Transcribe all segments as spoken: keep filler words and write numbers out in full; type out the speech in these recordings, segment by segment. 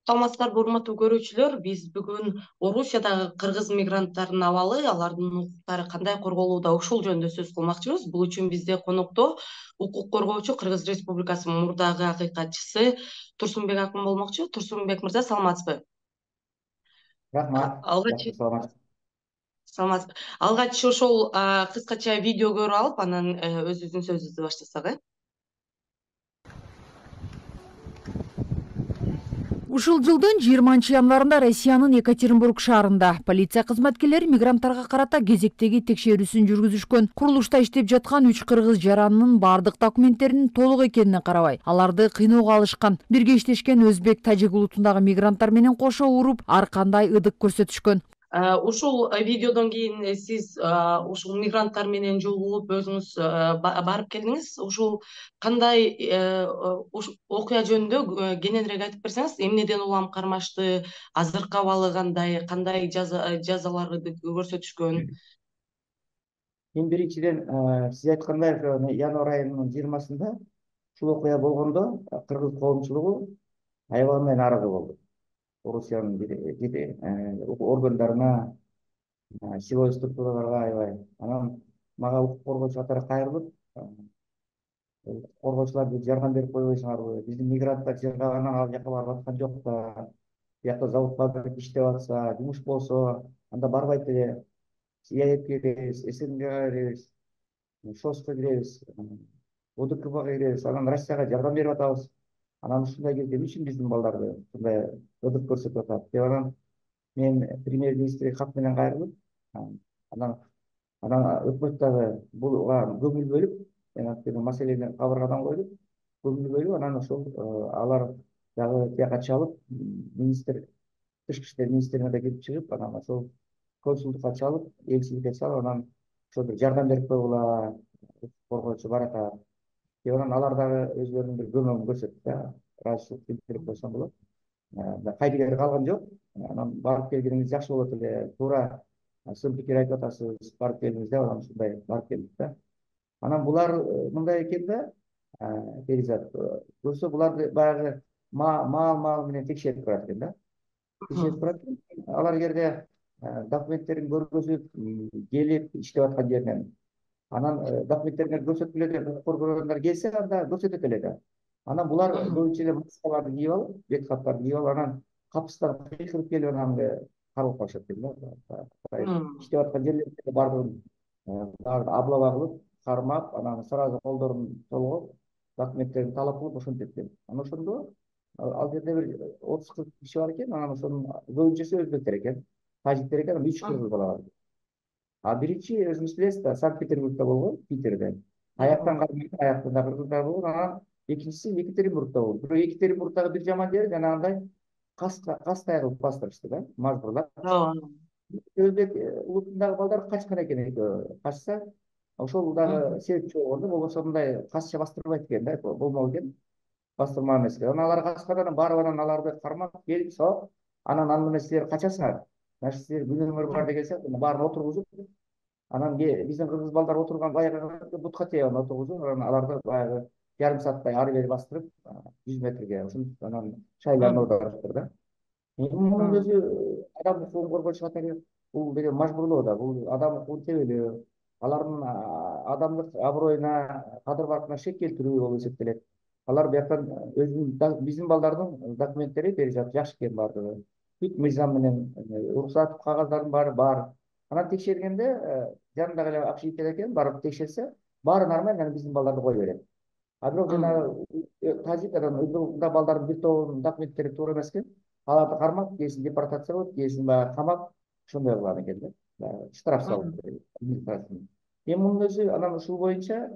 Саламатсыздарбы, урматтуу көрүүчүлөр. Биз бүгүн Орусиядагы кыргыз мигранттарынын абалы, алардын укуктары кандай корголууда ушул жөнүндө сөз кылмакчыбыз. Бул үчүн бизде конокто укук коргоочу Кыргыз Республикасынын мурдагы акыйкатчысы Турсунбек акын болмокчу. Турсунбек мырза, саламатсызбы? Рахмат. Алгач Жакшы, саламатсыз. саламатсызбы. Алгач ошол кыскача видео көрүп алып, анан өзүбүздүн сөзүбүздү баштасак, э? Ушул жылдын жыйырманчы январында Россиянын Екатеринбург шаарында полиция кызматкерлери мигранттарга карата кезектеги текшерүүсүн жүргүзүшкөн. Курулушта иштеп жаткан үч кыргыз жаранынын бардык документтеринин толук экенине карабай, аларды кыйноого алышкан. Бирге иштешкен өзбек, тажик улутундагы мигранттар менен кошо уруп, ар кандай ыдык көрсөтүшкөн. Ушул видеодон кийин сиз ушул мигранттар менен жолугуп өзүңүз барып келдиңиз. Ушул кандай окуя жөнүндө кененирээк айтып берсеңиз, эмнеден улам кармашты, азыркы абалы кандай, кандай жазаларды көрсөтүшкөн? Эң биринчиден сиз айткандай январь айынын жыйырмасында ушул окуя болгондо кыргыз коомчулугу аябай менен нааразы болду. Орусиянын бир органдарына, силовой структураларга аябай. Анан мага укук коргоочу катары кайрылып, коргоочулар жардам берип койбойсуңарбы? Биздин мигранттар жыргагандан ал жака барып аткан жок да. Биякта завод фабрика иштеп атса, жумуш болсо, анда барбайт эле. ИАЭПке киребиз, СНГга киребиз, ШОСко киребиз, ОДКБга киребиз, анан Россияга жардам берип атабыз. Анан ушундай кезде эмне үчүн биздин балдарды ушундай ыдык көрсөтүп атат деп анан мен премьер-министрге кат менен кайрылып, анан анан өкмөт дагы буга көңүл бөлүп, мен анткени маселени кабыргадан койдук, көңүл бөлүп, анан ошол алар дагы тияка чалып, министр, тышкы иштер министрлигине да кирип чыгып, анан ошол консулдукка чалып, элчиликке чалып, анан ошо бир жардам берип койгула, коргоочу бар атат деп анан алар дагы өзүлөрүнүн бир көмөгүн көрсөттү да, ыраазычылык билдирип койсом болот. Кайдыгер калган жок. Анан барып келгениңиз жакшы болот эле, туура сын пикир айтып атасыз, барып келдиңиз деп анан ушундай барып келдик да. Анан булар мындай экен да, Перизат, көрсө буларды баягы маал-маал менен текшерип турат экен да. Текшерип турат экен. Алар эгерде документтерин көргөзүп, келип иштеп аткан жеринен, анан документтерин көрсөткүлө деп укук коргоогундар келсе, анда көрсөтөт эле да. Анан булар көбүнчө эле маскаларды кийип алып, бет каптарды кийип алып, анан капыстан кыйкырып келип анан каралып калышат экен да. Иштеп аткан жерлерде бардыгын облава кылып, кармап, анан сразу колдорун толгоп, документтерин талап кылып ошентет экен. Анан ошондо ал жерде бир отуз кырк киши бар экен, анан ошонун көбүнчөсү өзбектер экен, тажиктер экен, үч кыргыз бала бар. А биринчи өзүңүз билесиз да, Санкт-Петербургда болгон, Питерде. Аяктан кармайт, аяктан да кыргыздар болгон, анан экинчиси Екатеринбургда болду. Бирок Екатеринбургдагы бир жаман жери жанагындай кастай кылып бастырышты да, мажбурлап. Өзбек улутундагы балдар качкан экен экөө. Качса, ошол дагы себепчи болгон да, болбосо мындай касча бастырбайт экен да, болмок экен. Бастырмаган эмес экен. Анан алар качкан, анан барып анан аларды кармап келип, со, анан аны менен силер качасыңар. Значит, силер күнөөңөр бар деген сыяктуу баарын отургузуп, анан биздин кыргыз балдар отурган баягы бутка тээп отургузуп, анан аларды баягы жарым сааттай ары бери бастырып, жүз метрге ушинтип анан шайларын оодарыптыр да. Мунун өзү адам укугун коргоочу катары бул деген мажбурлоо да, бул адам укугун тебелөө, алардын адамдык аброюна, кадыр баркына шек келтирүү болуп эсептелет. Алар бияктан өзүнүн биздин балдардын документтери Перизат жакшы экен бардыгы. Бүт мыйзам менен уруксат кагаздардын баары бар. Анан текшергенде жанындагы эле общежитие экен, барып текшерсе, баары нормально, анан биздин балдарды кое берет. А бирок жанагы тажик анан өзбек балдардын бир тобунун документтери туура эмес экен. Аларды кармап, кээсин депортация кылып, кээсин баягы камап, ошондой кылган экен да. Штраф салып. Эми мунун өзү анан ушул боюнча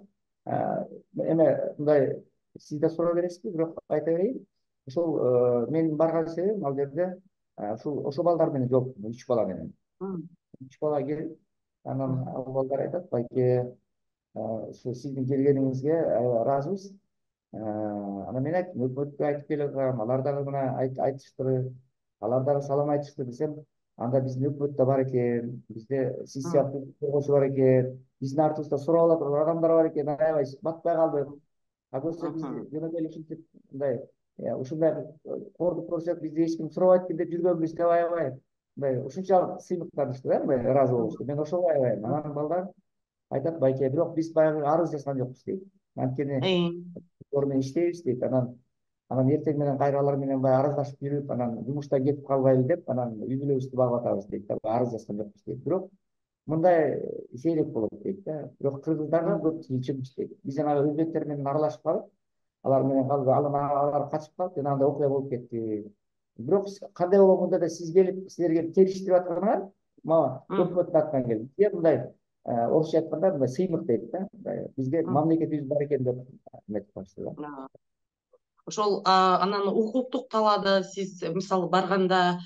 эме мындай сиз да суроо бересизби, бирок айта берейин. Ошол менин барган себебим ал жерде ушул ошол балдар менен жолуктум, үч бала менен. Үч бала келип, анан ал балдар айтат, байке, ушу сиздин келгениңизге ыраазыбыз. Анан мен айттым, өкмөткө айтып келем, алар дагы мына айтышты, алар дагы салам айтышты десем, анда биздин өкмөт да бар экен, бизде сиз сыяктуу коргоочу бар экен, биздин артыбызда сурап ала турган адамдар бар экен, аябай батпай калдык. А көрсө биз жөнөкөй эле ушинтип мындай ушундай кордук көрсөк бизди эч ким сурабайт экен деп жүргөнбүз деп аябай мындай ушунчалык сыймыктанышты да, мындай ыраазы болушту. Мен ошого аябайм. Анан балдар айтат байке, бирок биз баягы арыз жазган жокпуз дейт. Анткени менен иштейбиз дейт. Анан анан эртең менен кайра алар менен баягы араздашып жүрүп, анан жумуштан кетип калбайлы деп, анан үй бүлөбүздү багып атабыз дейт да. Арыз жазган жокпуз дейт. Бирок мындай сейрек болот дейт да. Бирок кыргыздарга көп тыйынчумуш дейт. Биз жана өзбектер менен аралашып калып, алар менен калып, алар качып калып, жана андай окуя болуп кетти. Бирок кандай болгондо да сиз келип, силерге териштирип атканыңар мага өкмөттүн атынан келди. Бизге мындай орусча айтканда мындай сыймык дейт да. Бизге мамлекетибиз бар экен деп айтып калышты да. Ошол анан укуктук талаада сиз мисалы барганда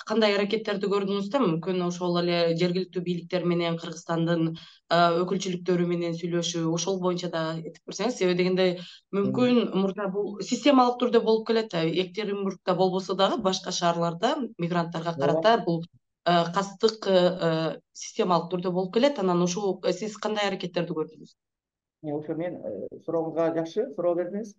кандай аракеттерди көрдүңүз да? Мүмкүн ошол эле жергиликтүү бийликтер менен Кыргызстандын өкүлчүлүктөрү менен сүйлөшүү, ошол боюнча да этип берсеңиз, себеби дегенде мүмкүн мурда бул системалык түрдө болуп келет. Екатеринбургда болбосо дагы башка шаарларда мигранттарга карата бул кастык системалык түрдө болуп келет. Анан ушул сиз кандай аракеттерди көрдүңүз? Ошо мен сурооңузга жакшы суроо бердиңиз.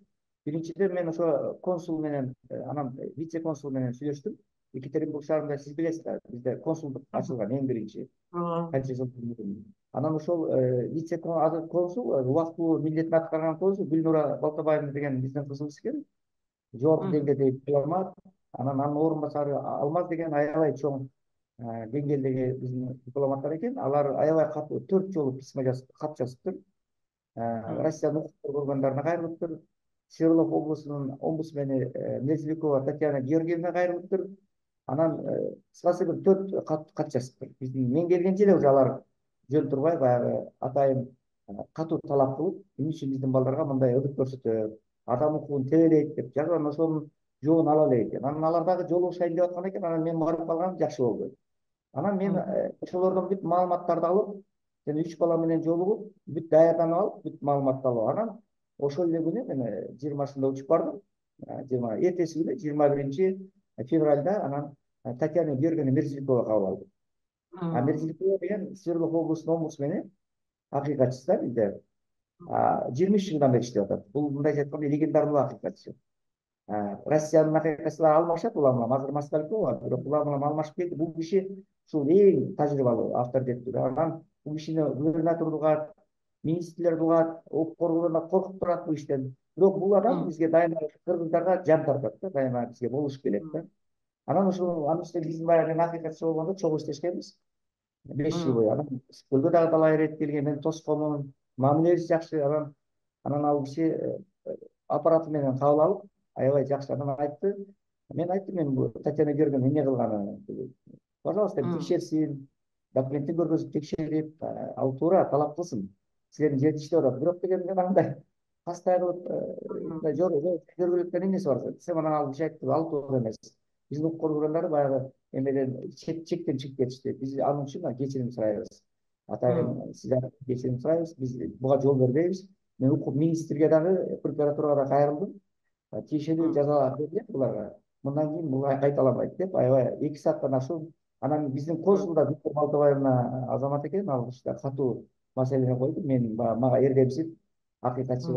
Биринчиден мен ошо консул менен, анан вице консул менен сүйлөштүм. Екатеринбург шаарында сиз билесиз да, бизде консулдук ачылган эң биринчи. Канча жыл мурун. Анан ошол вице консул, убактылуу милдетин аткарган консул Гүлнура Балтабаевна деген биздин кызыбыз экен. Жогорку деңгээлдеги дипломат. Анан анын орун басары Алмаз деген аябай чоң деңгээлдеги биздин дипломаттар экен. Алар аябай катуу төрт жолу письма жазып, кат жазыптыр. Россиянын укук органдарына кайрылыптыр. Свердлов облусунун омбудсмени Мерзликова Татьяна Георгиевна кайрылыптыр. Анан кыскасы бир төрт кат жазыптыр. Биздин мен келгенче эле уже алар жөн турбай баягы атайын катуу талап кылып, эмне үчүн биздин балдарга мындай өдүк көрсөтөт, адам укугун тебелейт деп жазып, анан ошонун жообун ала элек экен. Анан алар дагы жолугушайын деп аткан экен. Анан мен барып калганым жакшы болду. Анан мен ошолордон бүт маалыматтарды алып, жана үч бала менен жолугуп, бүт даярданып алып, бүт маалыматты алып, анан ошол эле күнү мен жыйырмасында учуп бардым. жыйырма эртеси күнү жыйырма биринчи февралда анан Татьяна Георгиевна Мерзликова кабыл алдым. А Мерзликова деген Свердлов облусунун омбудсмени, акыйкатчысы да бизде. жыйырма үч жылдан бери иштеп атат. Бул мындайча айтканда легендарный акыйкатчы. Россиянын акыйкатчылары алмашат улам, азыр Москалькова, бирок улам улам алмашып кетти. Бул киши ушул эң тажрыйбалуу, авторитеттүү. Анан бул кишини губернатордук угат, министрлерди угат, укук органдарына коркуп турат бул иштен. Бирок бул адам бизге дайыма кыргыздарга жан тартат да, дайыма бизге болушуп келет да. Анан ушул анын үстүнө биздин баягы акыйкатчы болгондо чогуу иштешкенбиз. беш жыл бою. Анан Көлгө дагы талай ирет келген, мен тосконмун, мамилебиз жакшы. Анан анан ал киши аппараты менен кабыл алып, аябай жакшы. Анан айтты, мен айттым, мен бул Татьяна Георгиевна эмне кылганы, пожалуйста, текшерсин, документин көргөзүп текшерип, ал туура талап кылсын. Силердин жерде иштеп атат. Бирок деген мен андай кастай кылып көргөлөткөн эмнеси бар десем, анан ал киши айтты, ал туура эмес. Биздин укук органдары баягы эмеден чектен чыгып кетишти. Биз анын үчүн кечирим сурайбыз. Атайын сиздерден кечирим сурайбыз. Биз буга жол бербейбиз. Мен укук министрге дагы, прокуратурага да кайрылдым. Тиешелүү жаза берилет буларга. Мындан кийин бул кайталамайт деп, аябай эки сааттан ашуун. Анан биздин консулда Гүлнура Балтабаевна азамат экен, ал киши катуу маселени койду. Мен мага эрдемсип, акыйкатчы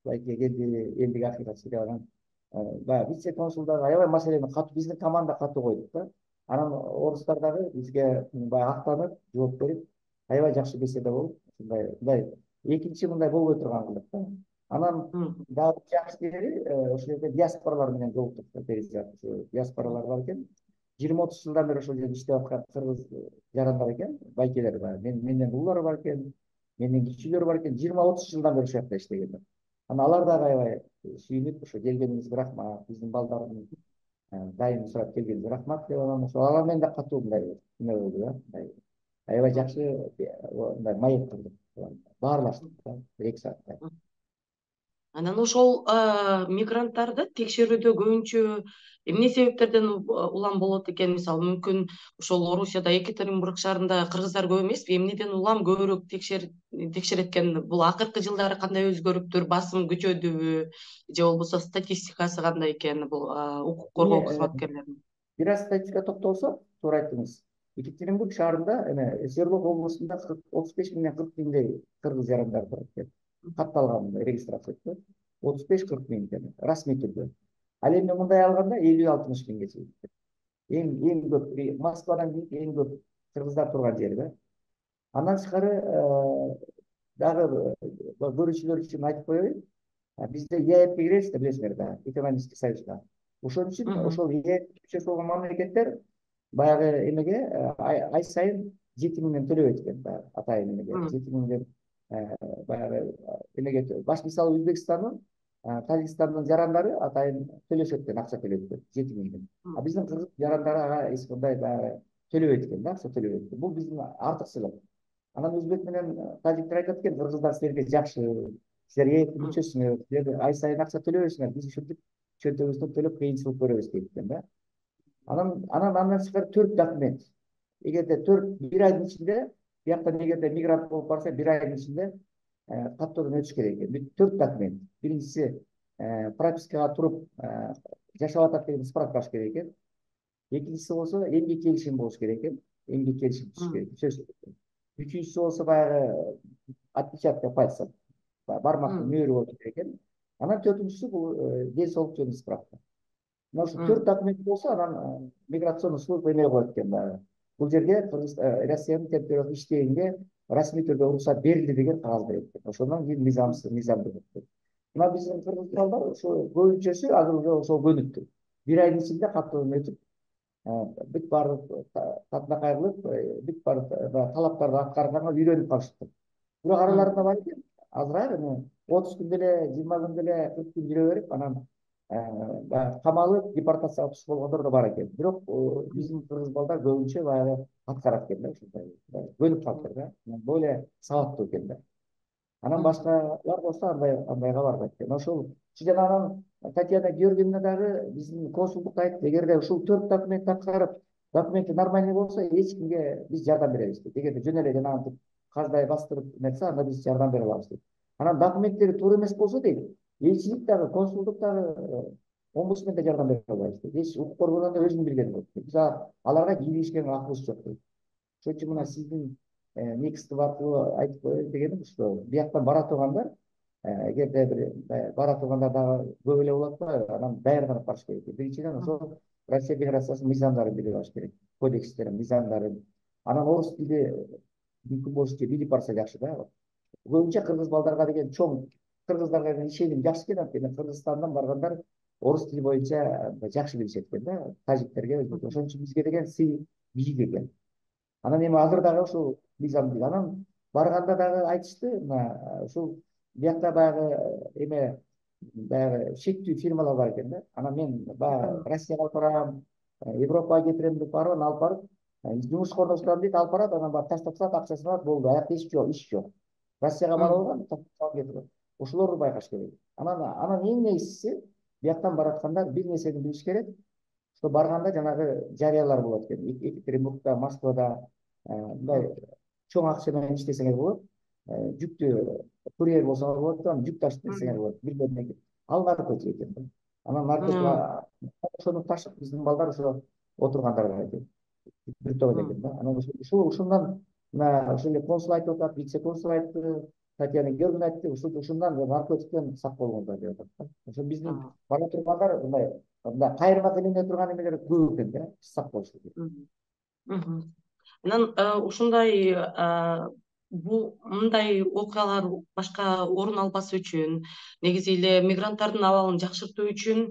байке келди, элдик акыйкатчы деп анан баягы вице консулдар аябай маселени катуу, биздин команда катуу койдук да. Анан орустар дагы бизге баягы актанып, жооп берип, аябай жакшы беседа болуп, ушундай мындай экинчи мындай болбой турган кылдык да. Анан дагы жакшы жери ошол жерде диаспоралар менен жолуктук. Диаспоралар бар экен. жыйырма отуз жылдан бери ошол жерде иштеп аткан кыргыз жарандар экен, байкелер бар. Менден уулар бар экен, менден кичүүлөр бар экен. жыйырма отуз жылдан бери ошол жакта иштегендер. Анан алар дагы аябай сүйүнүп, ошо келгениңизге рахмат, биздин балдардын дайым сурап келгениңизге рахмат деп, анан ошо алар менен да катуу мындай эме болду да. Аябай жакшы мындай маек кылдык. Баарлаштык да, бир эки сааттай. Анан ошол мигранттарды текшерүүдө көбүнчө эмне себептерден улам болот экен? Мисалы, мүмкүн ошол Орусияда Екатеринбург шаарында кыргыздар көп эмеспи? Эмнеден улам көбүрөөк текшерет экен? Бул акыркы жылдары кандай өзгөрүптүр? Басым күчөдүбү? Же болбосо статистикасы кандай экен бул укук коргоо кызматкерлеринин? Бир аз статистика токтолсок, туура айттыңыз. Екатеринбург шаарында эме Свердлов облусунда отуз беш миңден кырк миңдей кыргыз жарандар бар экен. Катталган регистрация. отуз беш кырк миң экен расмий түрдө. Ал эми мындай алганда элүү алтымыш миңге чейин. Эң эң көп Москвадан кийин эң көп кыргыздар турган жер да. Андан тышкары дагы көрүүчүлөр үчүн айтып коеюн. Бизде ЕАЭПке киребиз да, билесиңер да, экономический союзга. Ошон үчүн ошол ЕАЭПке мүчөсү болгон мамлекеттер баягы эмеге ай сайын жети миңден төлөп экен, баягы атайын эмеге жети миңден баягы эмеге баш мисалы Өзбекстандын, Тажикстандын жарандары атайын төлөшөт экен, акча төлөйт экен жети миңден. А биздин кыргыз жарандары ага эч кандай баягы төлөбөйт экен да, акча төлөбөйт экен. Бул биздин артыкчылык. Анан өзбек менен тажиктер айтат экен, кыргыздар силерге жакшы, силер ЕАЭПке мүчөсүңөр, силер ай сайын акча төлөбөйсүңөр, биз ушинтип чөнтөгүбүздөн төлөп кыйынчылык көрөбүз дейт экен да. Анан анан андан тышкары төрт документ. Эгерде төрт бир айдын ичинде, бияктан эгерде мигрант болуп барса, бир айдын ичинде каттоодон өтүш керек экен. төрт документ. Биринчиси пропискага туруп жашап атат деген справкасы керек экен. Экинчиси болсо эмгек келишим болуш керек экен. Эмгек келишим түзүш керек, сөзсүз. Үчүнчүсү болсо баягы отпечатка пальцев, бармактын мөөрү болуш керек экен. Анан төртүнчүсү бул ден соолук жөнүндө справка. Мына ушу төрт документ болсо, анан миграционный служба эме коет экен баягы. Бул жерге Россиянын территориясында иштегенге расмий түрдө уруксат берилди деген кагаз берет экен. Ошондон кийин мыйзамсыз мыйзам деп атат. Мына биздин кыргыздар ошо көбүнчөсү азыр уже ошол көнүктү. Бир айдын ичинде каттоодон өтүп, бүт баардык татынакай кылып, бүт баардык талаптарды аткарганга үйрөнүп калышты. Бирок араларында бар экен, азыраак эми отуз күн деле, жыйырма күн деле, кырк күн жүрө берип, анан камалып депортацияга туш болгондор да бар экен. Бирок биздин кыргыз балдар көбүнчө баягы аткарат экен да, ушундай көнүп калыптыр да. Более сабаттуу экен да. Анан башкалар болсо андай андайга барбайт экен. Ошол жанагы Татьяна Георгиевна дагы биздин консулдукка айтты, эгерде ушул төрт документти аткарып, документи нормальный болсо, эч кимге биз жардам беребиз дейт. Эгерде жөн эле жанагынтип каздай бастырып нерсе, анда биз жардам бере алабыз дейт. Анан документтери туура эмес болсо дейт, элчилик дагы, консулдук дагы, омбудсмен да жардам бере албайбыз дейт. Эч укук коргоонда өзүң билген болот. Биз аларга кийлигишкенге акыбыз жок дейт. Ошон үчүн мына сиздин Никстип аркылуу айтып коеюн дегеним ушул. Бияктан бара тургандар, эгерде бир бара тургандар дагы көп эле болот го, анан даярданып барыш керек. Биринчиден ошол Россия Федерациясынын мыйзамдарын билип алыш керек, кодекстерин, мыйзамдарын. Анан орус тили мүмкүн болушунча билип барса жакшы да. Көбүнчө кыргыз балдарга деген чоң кыргыздарга деген ишеним жакшы экен, анткени Кыргызстандан баргандар орус тили боюнча жакшы билишет экен да, тажиктерге. Ошон үчүн бизге деген сый бийик экен. Анан эми азыр дагы ушул мыйзам бил. Анан барганда дагы айтышты, мына ушул биякта баягы эме баягы шектүү фирмалар бар экен да. Анан мен баягы Россияга алып барам, Европага кетирем деп барып, алып барып, жумушка орноштурам дейт, алып барат, анан барып таштап салат, акчасын алат, болду. Аякта иш жок, иш жок. Россияга барып алган, таштап кетип. Ошолорду байкаш керек. Анан анан эң негизгиси, бияктан бараткандар бир нерсени билиш керек. Что барганда жанагы жарыялар болот экен. Екатеринбургда, Москвада мындай чоң акча менен иштесеңер болот. Жүктү курьер болсоңор болот, анан жүк ташып кетсеңер болот. Бир ал наркотик экен. Анан наркотик ошону ташып биздин балдар ошо отургандарга экен. Бүтөбөт экен да. Анан ушул ушундан мына ошол эле консул айтып атат, вице консул айтты, Татьяна Георгиевна айтты, ушул ушундан наркотиктен сак болуңуздар деп атат. Ошо биздин бара тургандар мындай мындай кайрылма тилинде турган эмелер көп экен да, сак болуш керек. Анан ушундай бул мындай окуялар башка орун албас үчүн, негизи эле мигранттардын абалын жакшыртуу үчүн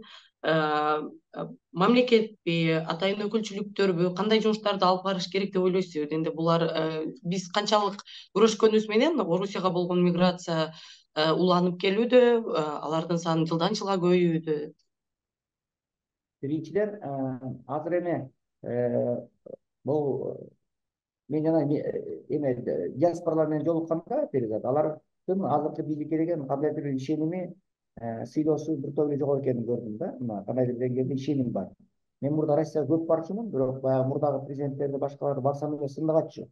мамлекетпи, атайын өкүлчүлүктөрбү кандай жумуштарды алып барыш керек деп ойлойсуз? Энди булар биз канчалык күрөшкөнүбүз менен Орусияга болгон миграция уланып келүүдө, алардын саны жылдан жылга көбөйүүдө. Биринчиден, азыр эме бул мен жана эме диаспоралар менен жолукканда перизат, алардын азыркы бийликке деген кандайдыр бир ишеними, сыйлоосу бир топ эле жок экенин көрдүм да. Мына кандайдыр деңгээлде ишеним бар. Мен мурда Россияга көп барчумун, бирок баягы мурдагы президенттерди башкаларды барсам эле сындагаччы.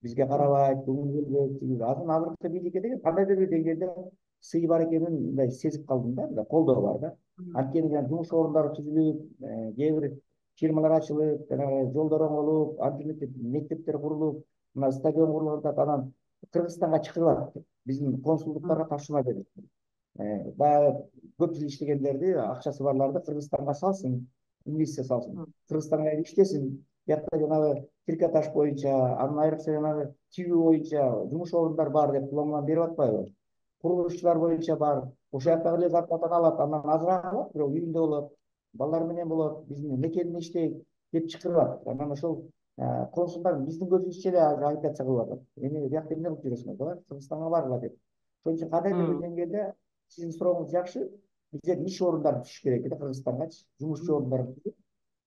Бизге карабайт, көңүл бөлбөйт. Азыр азыркы бийликке деген кандайдыр бир деңгээлде сый бар экенин мындай сезип калдым да, мындай колдоо бар да. Анткени жумуш орундары түзүлүп, кээ бир фирмалар ачылып, жанагы жолдор оңолуп, антимектеп мектептер курулуп, мына стадион курулуп атат. Анан Кыргызстанга чакырылат, биздин консулдуктарга тапшырма берилет. баягы көп жыл иштегендерди, акчасы барларды Кыргызстанга салсын, инвестиция салсын. Кыргызстанга иштесин. Биякта жанагы трикотаж боюнча, анын айрыкча жанагы тигүү боюнча жумуш орундары бар деп куломан берип атпайбы? Курулушчулар боюнча бар. Ошол жактагы эле зарплатаны алат, андан азыраак алат, бирок үйүндө болот, балдар менен болот, биздин мекенде иштейт деп чакырып. Анан ошол консулдар биздин көзүбүзчө эле агитация кылып атат. Эми биякта эмне кылып жүрөсүңөр? Кыргызстанга баргыла деп. Ошон үчүн кандайдыр бир деңгээлде сиздин сурооңуз жакшы. Бизден иш орундары түшүш керек да Кыргызстангачы. Жумушчу орундары түшүп,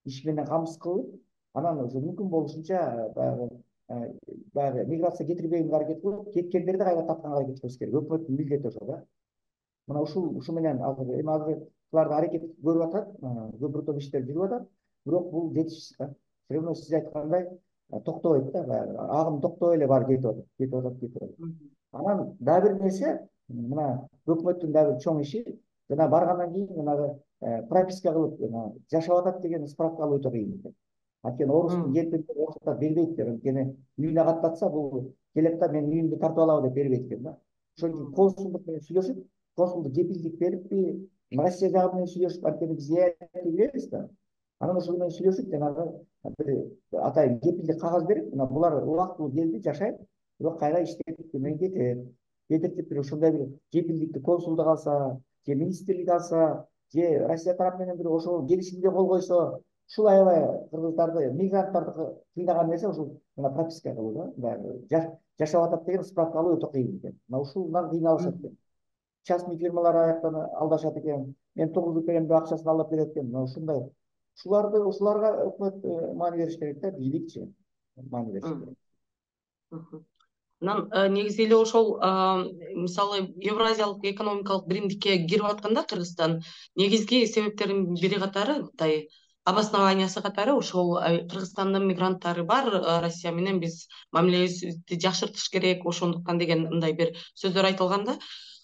иш менен камсыз кылып, анан ошо мүмкүн болушунча баягы баягы миграция кетирбегенге аракет кылып, кеткендерди кайра тапканга аракет кылыш керек. Өкмөттүн милдети ошол да. Мына ушул ушу менен азыр эми азыр буларды аракет көрүп атат, көпүрө топ иштер жүрүп атат, бирок бул жетишсиз да. Все равно сиз айткандай токтобойт да, баягы агым токтобой эле баары кетип атат, кетип атат, кетип атат. Анан дагы бир нерсе, мына өкмөттүн дагы чоң иши, жана баргандан кийин жанагы прописка кылып жашап атат деген справка алуу өтө кыйын экен. Анткени орустун еркиндер орустар бербейт, анткени үйүнө каттатса бул келет да мен үйүмдү тартып алабы деп бербейт экен да. Ошон үчүн консулдук менен сүйлөшүп, консулдук кепилдик бериппи, Россия жагы менен сүйлөшүп, анткени биз ЭАЭПти билебиз да. Анан ошол менен сүйлөшүп, жанагы бир атайын кепилдик кагаз берип, мына булар убактылуу келди, жашайт, бирок кайра иштеп менен кетет. Кетип бир ошондой бир кепилдикти консулдук алса, же министрлик алса, же Россия тарап менен бир ошол келишимге кол койсо, ушул аябай кыргыздарды, мигранттарды кыйнаган нерсе ушул мына прописка кылуу да, баягы жашап атат деген справка алуу өтө кыйын экен. Мына ушундан кыйналышат экен. Частный фирмалар аяктан алдашат экен. Мен тогуз берем деп акчасын алып берет экен. Мына ушундай. Ушуларды ушуларга өкмөт маани бериш керек да, бийликчи маани бериш керек. Анан негизи эле ошол мисалы Евразиялык экономикалык биримдикке кирип атканда Кыргызстан негизги себептердин бири катары мындай обоснованиясы катары ошол Кыргызстандын мигранттары бар, Россия менен биз мамилебизди жакшыртыш керек, ошондуктан деген мындай бир сөздөр айтылганда,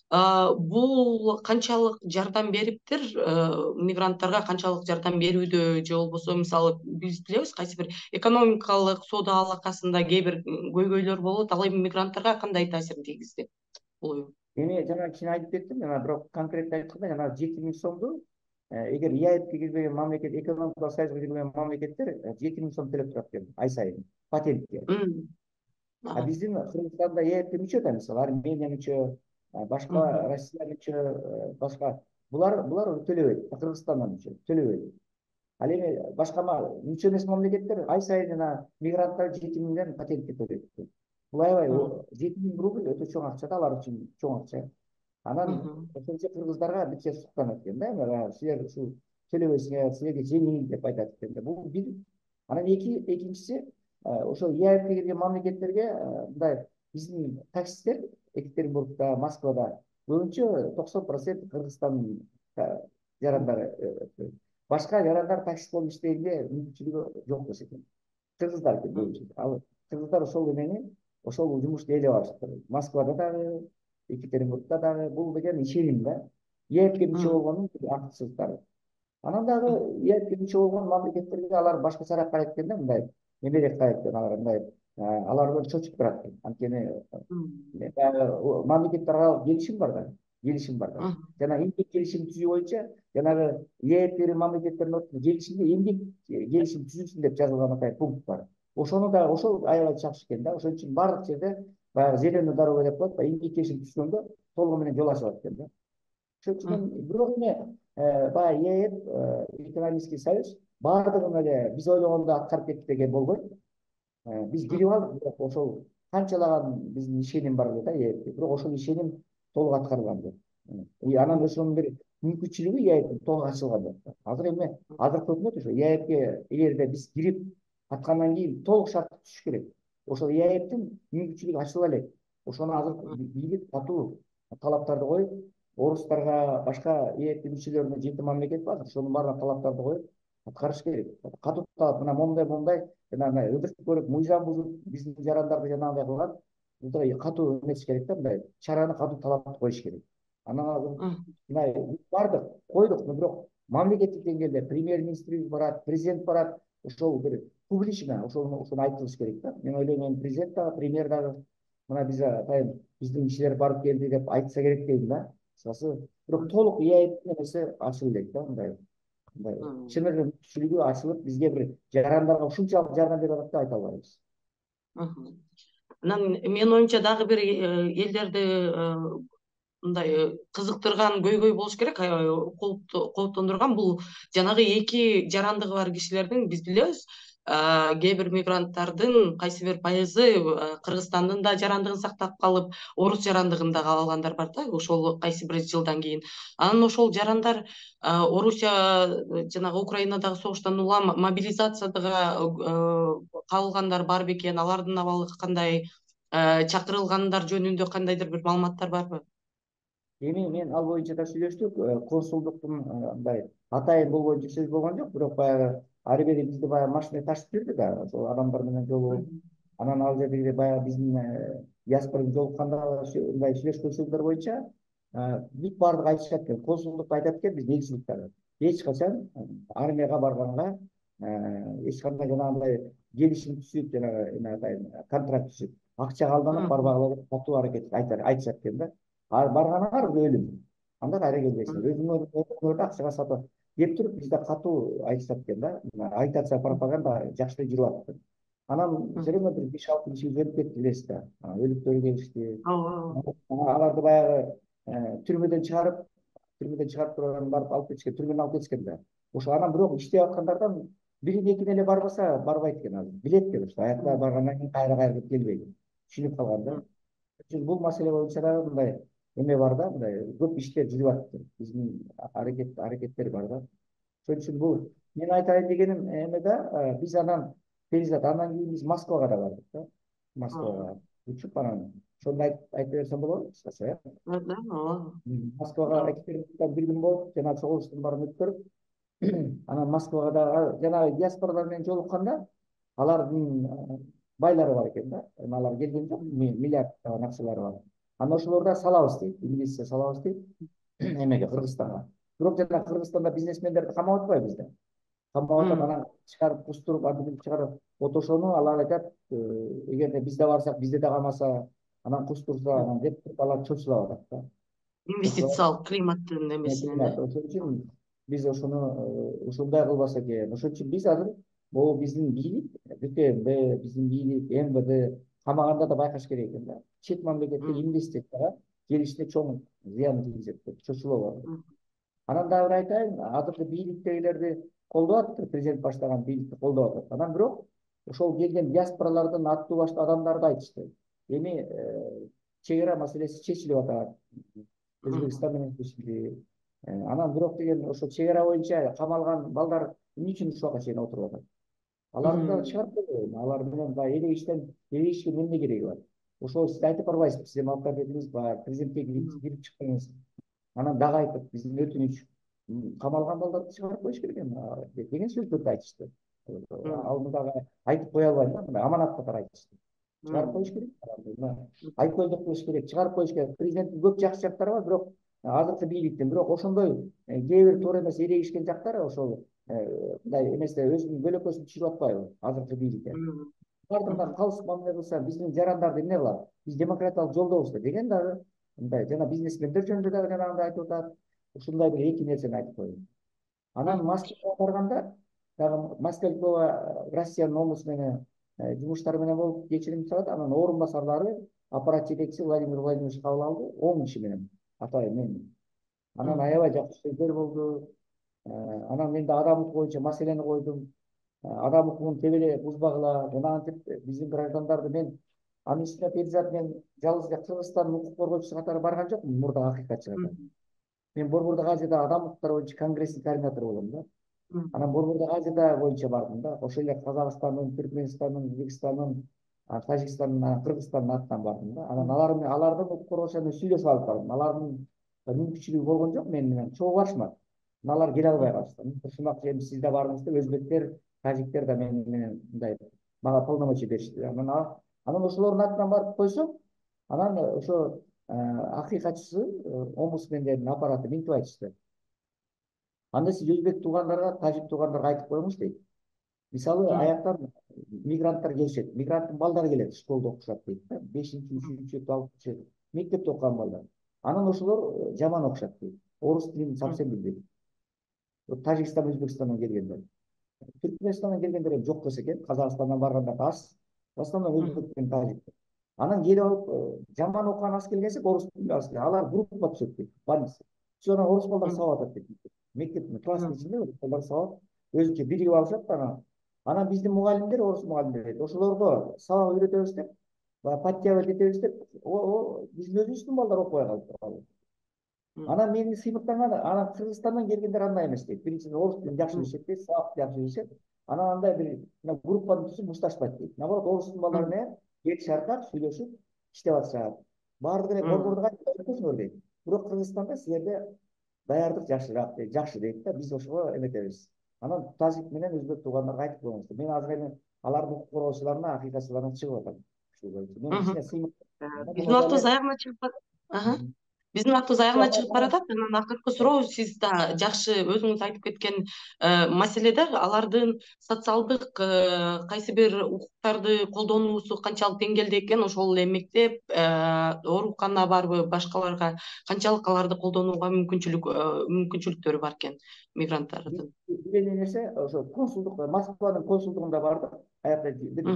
бул канчалык жардам бериптир, мигранттарга канчалык жардам берүүдө, же болбосо мисалы биз билебиз кайсы бир экономикалык соода алакасында кээ бир көйгөйлөр болот, ал эми мигранттарга кандай таасирин тийгизди бул? Эми жана кичине айтып кеттим, жана бирок конкреттүү айтканда, жана жети миң сомду эгер ЭАЭПке кирбеген мамлекет, экономикалык союзга кирбеген мамлекеттер жети миң сом төлөп турат экен ай сайын патентке. А биздин Кыргызстанда ЭАЭПке мүчө да, мисалы Армения мүчө, башка Россия мүчө, башка булар булар төлөбөйт. Кыргызстандан мүчө төлөбөйт. Ал эми башка мүчө эмес мамлекеттер ай сайын жана мигранттар жети миңден патентке төлөйт. Бул аябай жети миң рубль өтө чоң акча да, алар үчүн чоң акча. Анан ошончо кыргыздарга бирче суктанат экен да, силер ушул төлөбөйсүңөр, силерге жеңил деп айтат экен да. Бул бир. Анан эки экинчиси, ошол ЭАЭПке кирген мамлекеттерге мындай биздин таксисттер Екатеринбургда, Москвада көбүнчө токсон процент Кыргызстандын жарандары. Башка жарандар таксист болуп иштегенге мүмкүнчүлүгү жок десе экен. Кыргыздар көбүнчө. Ал кыргыздар ошол эмени, ошол жумушту ээлеп алышты. Москвада дагы, Екатеринбургда дагы бул деген ишеним да. ЭАЭПке мүчө болгондун артыкчылыктары. Анан дагы ЭАЭПке мүчө болгон мамлекеттерге алар башкачараак карайт экен да, мындай эмерээк карайт экен, алар мындай алардан чочуп турат экен. Анткени мамлекеттер аралык келишим бар да, келишим бар да. Жана эмгек келишим түзүү боюнча, жанагы ЭАЭП мамлекеттердин ортосунда келишимде эмгек келишим түзүлсүн деп жазылган атай пункт бар. Ошону да ошол аябай жакшы экен да. Ошон үчүн баардык жерде баягы зеленый дорога деп коет, эмгек келишим түзгөндө толугу менен жол ачылат экен да. Ошон үчүн бирок эми баягы ЭАЭП, экономический союз баардыгын эле биз ойлогондой аткарып кетти деген болбойт. Биз кирип алдык, бирок ошол канчалаган биздин ишеним бар да ЭАЭПке, бирок ошол ишеним толук аткарылган жок. Анан ошонун бир мүмкүнчүлүгү ЭАЭПтин толук ачылган жок. Азыр эми азыркы өкмөт ошо ЭАЭПке эгерде биз кирип аткандан кийин толук шарт түзүш керек. Ошол ЭАЭПтин мүмкүнчүлүгү ачыла элек. Ошону азыр бийлик катуу талаптарды коюп, орустарга, башка ЭАЭПтин мүчөлөрүнө жети мамлекет бар, ошонун баарына талаптарды коюп аткарыш керек. Катуу талап, мына момундай момундай жана ыдыртып көрүп, мыйзам бузуп, биздин жарандарды жанагындай кылган, мындай катуу эметиш керек да, мындай чараны катуу талапты коюш керек. Анан азыр мындай бардык, койдук, бирок мамлекеттик деңгээлде премьер-министрибиз барат, президент барат, ошол бир публично ошону ошону айтылыш керек да. Мен ойлойм, эми президент дагы, премьер дагы мына биз атайын биздин кишилер барып келди деп айтса керек дейм да. Кысасы бирок толук ИАЭП нерсе ачылып элек да, мындай мындай чын эле мүмкүнчүлүгү ачылып бизге бир жарандарга ушунчалык жардам берип атат деп айта албайбыз. Анан менин оюмча дагы бир элдерди мындай кызыктырган көйгөй болуш керек, кооптондурган бул жанагы эки жарандыгы бар кишилердин, биз билебиз, кээ бир мигранттардын кайсы бир пайызы Кыргызстандын да жарандыгын сактап калып, орус жарандыгын да каап алгандар бар да, ошол кайсы бир жылдан кийин. Анан ошол жарандар Орусия жанагы Украинадагы согуштан улам мобилизацияга кабылгандар бар бекен, алардын абалы кандай, чакырылгандар жөнүндө кандайдыр бир маалыматтар барбы? Эми мен ал боюнча да сүйлөштүк, консулдуктун мындай атайын бул боюнча сөз болгон жок, бирок баягы ары бери бизди баягы машина ташып жүрдү да, ошол адамдар менен жолугуп, анан ал жердеги баягы биздин диаспора жолукканда мындай сүйлөшкөн сөздөр боюнча бүт баардыгы айтышат экен, консулдук айтат экен, биз негизчиликтер эч качан армияга барганга эч кандай жанагындай келишим түзүп, жанагы эме атайын контракт түзүп, акчага алданып барбагыла деп катуу аракет айтышат экен да. Барганыңар өлүм. Анда кайра келбейсиңер. Өзүңөрдү акчага сатып деп туруп бизде катуу айтышат экен да. Агитация, пропаганда жакшы жүрүп атат. Анан жериме бир беш алты киши өлүп кетти билесиз да. Өлүктөр келишти. Аларды баягы түрмөдөн чыгарып, түрмөдөн чыгарып туруп анан барып алып кетишкен, түрмөдөн алып кетишкен да. Ошо анан бирок иштеп аткандардан бирин экине эле барбаса барбайт экен азыр. Билет экен, ошо аякта баргандан кийин кайра кайра келбейт. Түшүнүп калган да. Бул маселе боюнча да мындай эме бар да, мындай көп иштер жүрүп атат. Биздин аракет аракеттер бар да. Ошон үчүн бул мен айтайын дегеним эме да, биз анан перизат андан кийин биз Москвага да бардык да. Москвага учуп анан ошону айтып берсем болобу кыскача, э? Да, ооба. Москвага экспедициядан бир күн болуп, жана чогулуштун баарын өткөрүп, анан Москвага да жанагы диаспоралар менен жолукканда алардын байлары бар экен да. Алар келген жок, миллиарддаган акчалары бар. Анан ошолорду салабыз дейт, инвестиция салабыз дейт эмеге, Кыргызстанга. Бирок жана Кыргызстанда бизнесмендерди камап атпайбыз да. Камап атып, анан чыгарып кустуруп, антип чыгарып отошону алар айтат, эгерде бизде барсак, бизде да камаса, анан кустурса, анан деп алар чочулап атат да. Инвестициялык климаттын эмесинен да. Ошон үчүн биз ошону ушундай кылбаса экен. Ошон үчүн биз азыр могу биздин бийлик, БТМ, биздин бийлик, МВД камаганда да байкаш керек экен да. Чет мамлекетте инвестицияга келишине чоң зыян тийгизет деп чочулап атат. Анан дагы бир айтайын, азыркы бийликтегилерди колдоп атат, президент баштаган бийликти колдоп атат. Анан бирок ошол келген диаспоралардын аттуу баштуу адамдары да айтышты. Эми чек ара маселеси чечилип атат. Өзбекстан менен чечилди. Анан бирок деген ошо чек ара боюнча камалган балдар эмне үчүн ушуга чейин отуруп атат? Аларды да чыгарып койгойлу. Алар менен баягы эле иштен эле ишке эмне кереги бар? Ошол сиз айтып барбайсызбы, сиз эми алып бердиңиз бар, президентке кирип чыктыңыз. Анан дагы айтып, биздин өтүнүч камалган балдарды чыгарып коюш керек эми деген сөздөрдү айтышты. Ал дагы айтып кое албайм да, мындай аманат катары айтышты. Чыгарып коюш керек, айкөлдүк кылыш керек, чыгарып коюш керек. Президенттин көп жакшы жактары бар, бирок азыркы бийликтин, бирок ошондой кээ бир туура эмес эрегишкен жактары ошол мындай эместе өзүнүн көлөкөсүн түшүрүп атпайбы азыркы бийликте. Бардыгына калыс мамиле кылса, биздин жарандарды эмне кылат? Биз демократиялык жолдобуз деген дагы мындай жана бизнесмендер жөнүндө дагы жанагындай айтып атат. Ушундай бир эки нерсени айтып коеюн. Анан Москвага барганда дагы Москва Россиянын омбусменен жумуштары менен болуп кечирим сурап, анан орун басарлары аппарат жетекчиси Владимир Владимирович кабыл алды, он киши менен атайын мен. Анан аябай жакшы сөздөр болду. Анан мен да адам укугу боюнча маселени койдум. Адам укугун тебеле бузбагыла, жанагынтип биздин граждандарды мен анын үстүнө перизат мен жалгыз эле Кыргызстандын укук коргоочусу катары барган жокмун, мурда акыйкатчы катары. Мен Борбордук Азияда адам укуктары боюнча конгресстин координатору болом да. Анан Борбордук Азия боюнча бардым да. Ошол эле Казакстандын, Түркмөнстандын, Өзбекстандын, Тажикстандын, Кыргызстандын атынан бардым да. Анан алар менен алардын укук коргоочулары менен сүйлөшүп алып бардым. Алардын мүмкүнчүлүгү болгон жок мен менен чогуу барышмады. Алар келе албай калышты. Ушунак эми сиз да бардыңыз деп өзбектер, тажиктер да мен менен мындай мага полномочия беришти. Анан анан ошолордун атынан барып койсом, анан ошо акыйкатчысы, омбусмендердин аппараты минтип айтышты. Анда сиз өзбек туугандарга, тажик туугандарга айтып коюңуз дейт. Мисалы, аяктан мигранттар келишет, мигранттын балдары келет, школдо окушат дейт да, бешинчи, үчүнчү, алтынчы мектепте окуган балдар. Анан ошолор жаман окушат дейт. орус тилин совсем билбейт. Тажикстан, Өзбекстандан келгендер. Түркменистандан келгендер жок болсо экен, Казакстандан барганда аз. В основном өзбек менен тажик. Анан келип алып жаман окуган аз келгенсек, орус тилин аз келген. Алар группа түзөт дейт, больница. Sonra орус балдар сабап атат дейт. Мектептин класстын ичинде орус балдар сабап, өзүнчө биригип алышат анан. Анан биздин мугалимдер, орус мугалимдер, ошолорго сабак үйрөтөбүз деп, подтягивать этебиз деп, биздин өзүбүздүн балдар окубай калып. Анан мени сыймыктанган, анан Кыргызстандан келгендер андай эмес дейт. Биринчиден орус тилин жакшы билишет дейт, сабакты жакшы билишет. Анан андай бир группаны түзүп мушташпайт дейт. Наоборот, орустун балдары менен кел шаркап, сүйлөшүп иштеп атышат. Баардыгы эле борбордук айтпайсыңар дейт. Бирок Кыргызстанда силерде даярдык жакшыраак дейт, жакшы дейт да, биз ошого эметебиз. Анан тажик менен өзбек туугандарга айтып коюңуз. Мен азыр эми алардын укук коргоочуларына, акыйкатчыларына чыгып атам. Мен ичине сыймык. Биздин убактыбыз аягына чыгып Биздин убактыбыз аягына чыгып баратат. Анан акыркы суроо, сиз да жакшы өзүңүз айтып кеткен маселеде алардын социалдык кайсы бир укуктарды колдонуусу канчалык деңгээлде экен, ошол эле мектеп, оорукана барбы, башкаларга канчалык аларды колдонууга мүмкүнчүлүк мүмкүнчүлүктөрү бар экен мигранттардын? Билген нерсе ошо консулдук, Москванын консулдугунда бардык. Аякта бир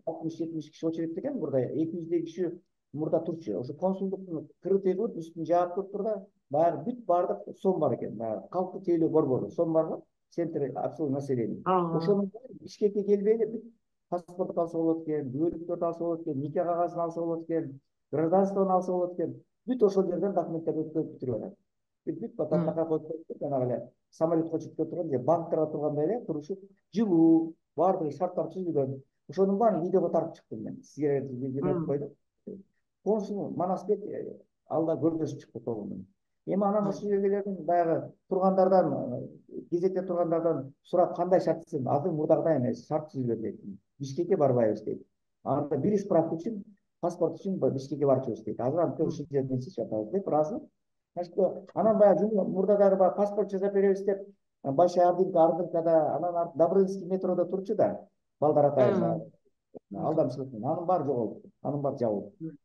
алтымыш жетимиш киши очередте экен, мурда эки жүздөй киши мурда турчу. Ошо консулдуктун кырыты кылып, үстүн жаап туруп да, баягы бүт бардык сом бар экен. Баягы калктык тейлөө борбору сом бар го, центр обслуживания населения. Ошонун Бишкекке келбей эле бүт паспорт алса болот экен, күбөлүктөрдү алса болот экен, нике кагазын алса болот экен, гражданствону алса болот экен. Бүт ошол жерден документтерди өткөрүп бүтүрүп атат. Бүт батакка коюп, жанагы эле самолетко чыгып турган же банктерге тургандай эле турушуп, жылуу, баардыгы шарттар түзүлгөн. Ошонун баарын видеого тартып чыктым мен. Сизге эметип койдум. Консул Манасбек алда көргөзүп чыкты толугу. Эми анан ошол жерлерден баягы тургандардан, кезекте тургандардан сурап, кандай шарт түзүлдү? Азыр мурдагыдай эмес, шарт түзүлгөн дейт. Бишкекке барбайбыз дейт. Анда бир справка үчүн, паспорт үчүн Бишкекке барчубуз дейт. Азыр антип ушул жерден сиз жатабыз деп ыраазы. Значит, анан баягы мурда дагы паспорт жасап беребиз деп, Большая Ордынка, Ордынкада, анан Добрынский метродо турчу да, балдар атайын. Алдамчылык, анын баары жоголду. Анын баары жабылды.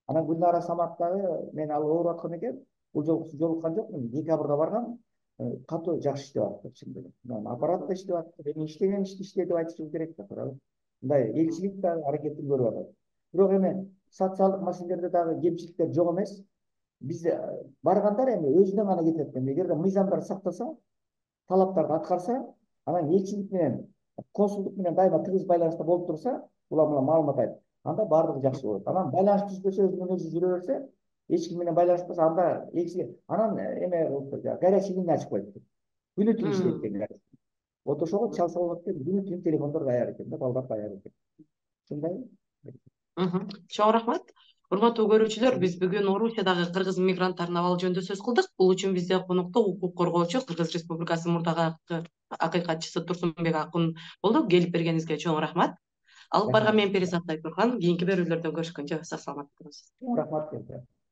Анан Гүлнара Саматтагы мен ал ооруп аткан экен, бул жолку жолуккан жокмун. Декабрда баргам, катуу жакшы иштеп атты чын эле. Аппарат да иштеп атты, эми иштеген ишти иштей деп айтышыбыз керек да, туурабы? Мындай элчилик да аракетин көрүп атат. Бирок эми социалдык маселелерде дагы кемчиликтер жок эмес. Биз баргандар эми өзүнөн гана кетет экен. Эгерде мыйзамдарды сактаса, талаптарды аткарса, анан элчилик менен, консулдук менен дайыма тыгыз байланышта болуп турса, улам улам маалымат айтып, анда баардыгы жакшы болот. Анан байланыш түзбөсө, өзүнөн өзү жүрө берсе, эч ким менен байланышпаса, анда элчилик анан эме горячий линия ачып коет. Күнү түнү иштейт экен. Вот ошого чалса болот экен, күнү түнү телефондор даяр экен да, балдар даяр экен. Ушундайбы? Чоң рахмат. Урматтуу көрүүчүлөр, биз бүгүн Орусиядагы кыргыз мигранттарынын абалы жөнүндө сөз кылдык. Бул үчүн бизде конокто укук коргоочу, Кыргыз Республикасы мурдагы акыйкатчысы Турсунбек Акун болду. Келип бергениңизге чоң рахмат. Алып барган мен Перизат Айтурган. Кийинки берүүлөрдө көрүшкөнчө сак саламат болуңуз. Рахмат.